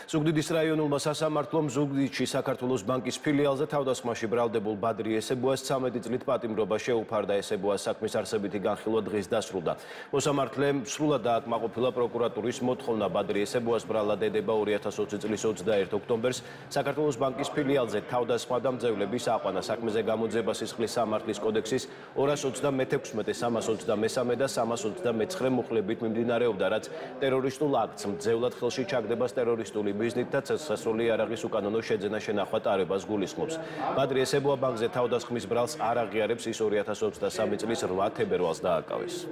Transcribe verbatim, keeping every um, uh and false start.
ზუგდიდის რაიონულმა სასამართლომ ზუგდიდში საქართველოს ბანკის ფილიალზე თავდასხმაში ბრალდებულ ბადრი ესებუას ცამეტი წლით პატიმრობა შეუფარდა. ესებუას საქმის არსებითი განხილვა დღეს დასრულდა. მოსამართლემ სრულად დააკმაყოფილა პროკურატურის მოთხოვნა ბადრი ესებუას ბრალად ედება ორი ათას ოცი წლის ოცდაერთ ოქტომბერს საქართველოს ბანკის ფილიალზე თავდასხმა და მძევლების აყვანა. საქმეზე გამოძიება სისხლის სამართლის კოდექსის ორას ოცდამეექვსმეტე, სამას ოცდამესამე და სამას ოცდამეცხრე მუხლებით მიმდინარეობდა, რაც ტერორისტულ აქტს მძევლად ხელში ჩაგდებას ტერორისტული ბიზნით და წესასწაული იარაღის უკანონო შეძენა შენახვა ტარებას გულისხმობს. ბადრი ესებუა ბანკზე თავდასხმის ბრალს არ აღიარებს, ის ორი ათას ოცდასამი წლის რვა თებერვალს დააკავეს.